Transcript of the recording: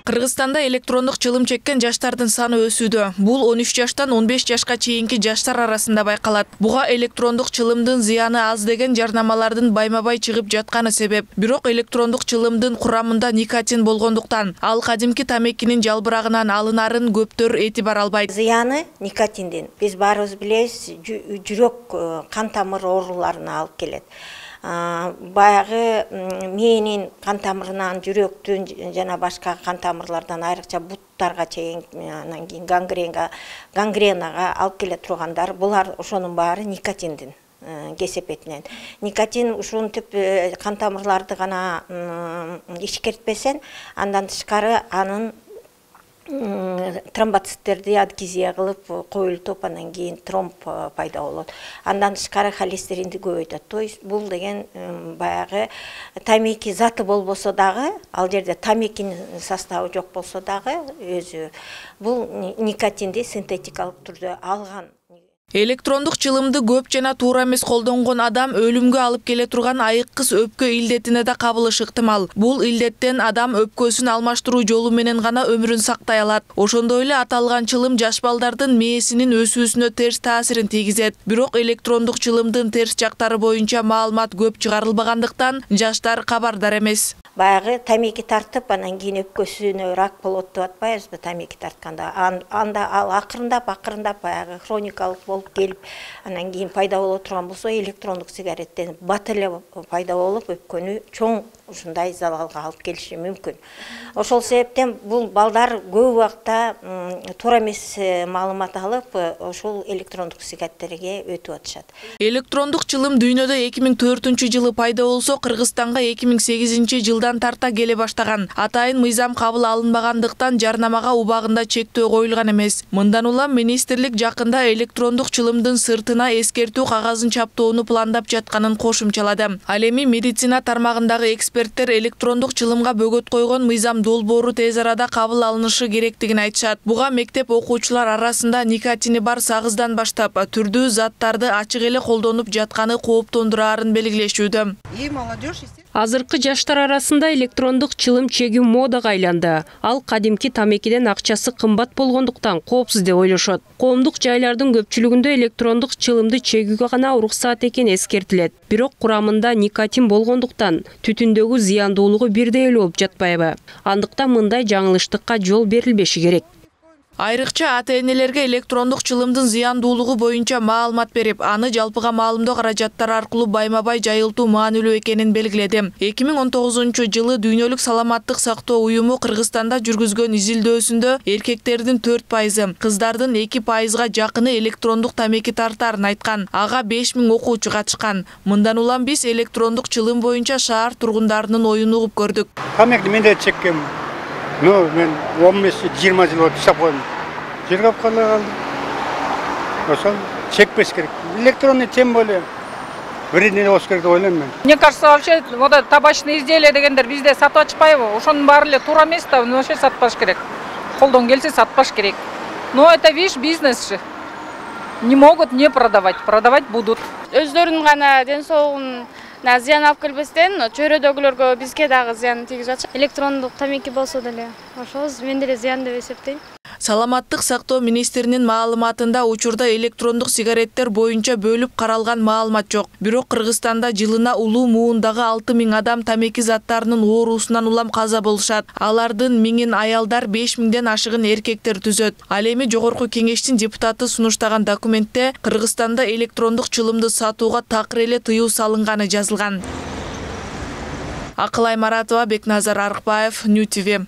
Кыргызстанда электрондук чылым чеккен жаштардын саны өсүүдө. Бул 13 жаштан 15 жашка чейинки жаштар арасында байкалат. Буга электрондук чылымдын зыяны аз деген жарнамалардын байма-бай чыгып жатканы себеп. Бирок электрондук чылымдын курамында никотин болгондуктан, ал кадимки тамекинин жалбырагынан алынарын көптөр этибар албайт. Зыяны никотиндин. Биз баарыбыз билебиз, жүрөк кан тамыр ооруларына алып келет. Баягы мээнин кан тамырынан, жүрөктүн жана башка кан тамырлардан айрыкча буттарга чейин, анан кийин гангренага алып келе тургандар, булар ошонун баары никотиндин кесепетинен. Никотин ушинтип кан тамырларды гана ишкертпесен, андан тышкары анын тромбоциттерди адгезия кылып коюлтуп, анан кийин тромб пайда болот. Андан тышкары холестеринди көбөйтөт. То есть бул деген баягы тамеки заты болбосо дагы, ал жерде тамекинин составы жок болсо дагы өзү бул никотинди синтетикалык түрдө алган. Электрондук чылымды көп жана туура эмес колдонгон адам өлүмгө алып келе турган айыккыс өпкө илдетине да кабылышы ыктымал. Бул илдеттен адам өпкөсүн алмаштыруу жолу менен гана өмүрүн сактай алат. Ошондой эле аталган чылым жаш балдардын мээсинин өсүүсүнө терс таасирин тийгизет. Бирок электрондук чылымдын терс жактары боюнча маалымат көп чыгарылбагандыктан жаштар кабардар эмес. Баягы тамеки тартып, анан кийин өпкөсүнө рак болот деп атпайбызбы тамеки тартканда. Анда ал акырындап баягы хроникалык болуп келип, анан кийин пайда боло турган болсо, электрондук сигареттен бат эле пайда болуп, өпкөнү чоң ушундай залалга алып келиши мүмкүн. Ошол себептен бул балдар көп убакта туура эмес маалымат алып, ошол электрондук сигареттерге өтүп атышат. Электрондук чылым дүйнөдө 2004-жылы пайда болсо, Кыргызстанга 2008-жылдан тарта келе баштаган. Атайын мыйзам кабыл алынбагандыктан жарнамага убагында чектөө коюлган эмес. Мындан улам министрлик жакында электрондук чылымдын сыртына эскертүү кагазын чаптоону пландап жатканын кошумчалады. Ал эми медицина тармагындагы эксперттер электрондук чылымга бөгөт койгон мыйзам долбоору тез арада кабыл алынышы керектигин айтышат. Буга мектеп окуучулар арасында никотини бар сагыздан баштап түрдүү заттарды ачык эле колдонуп жатканы кооптондураарын белгилешүүдө. Азыркы жаштар арасында электрондук чылым чегүү модага айланды. Ал кадимки тамекиден акчасы кымбат болгондуктан коопсуз деп ойлошот. Коомдук жайлардын көпчүлүгүндө электрондук чылымды чегүүгө гана уруксаат экени эскертилет. Бирок курамында никотин болгондуктан түтүндөгү зыяндуулугу бирдей эле болуп жатпайбы? Андыктан мындай жаңылыштыкка жол берилбеши керек. Айрыкча ата-энелерге электрондук чылымдын зыяндуулугу боюнча маалымат берип, аны жалпыга маалымдоо каражаттары аркылуу байма-бай жайылтуу маанилүү экенин белгиледи. 2019-жылы Дүйнөлүк саламаттык сактоо уюму Кыргызстанда жүргүзгөн изилдөөсүндө эркектердин 4%, кыздардын 2%га жакыны электрондук тамеки тартаарын айткан. Ага 5000 окуучу катышкан. Мындан улам биз электрондук чылым боюнча шаар тургундарынын оюн угуп көрдүк. Тамеки мен да чеккем. Мен 15-20 жыл өтүп койдум. Жыргап калдым. Ошол чекпеш керек. Электронный тем более вредный болуш керек деп ойлойм мен. Мне кажется, вообще вот табачный изделия дегендер бизде сатып атышпайбы? Ошонун баары эле туура эмес да, вообще сатпаш керек. Колдон келсе сатпаш керек. Но это видишь, бизнес же. Не могут не продавать, продавать будут. Өздөрүнүн гана ден соолугун зыян алып келбестен, чөйрөдөгүлөргө бизге дагы зыян тийгизип атышат. Электрондук тамеки болсо деле, ошол мен деле зыян деп эсептейм. Саламаттык сактоо министринин маалыматында учурда электрондук сигареттер боюнча бөлүп каралган маалымат жок. Бирок Кыргызстанда жылына улуу муундагы 6000 адам тамеки заттарынын оорусунан улам каза болушат. Алардын 1000 аялдар, 5000ден ашыгын эркектер түзөт. Ал эми Жогорку Кеңештин депутаты сунуштаган документте Кыргызстанда электрондук чылымды сатууга такыр эле тыюу салынганы жазылган. Акылай Маратова, Бекназар Арыкбаев, Нью ТВ.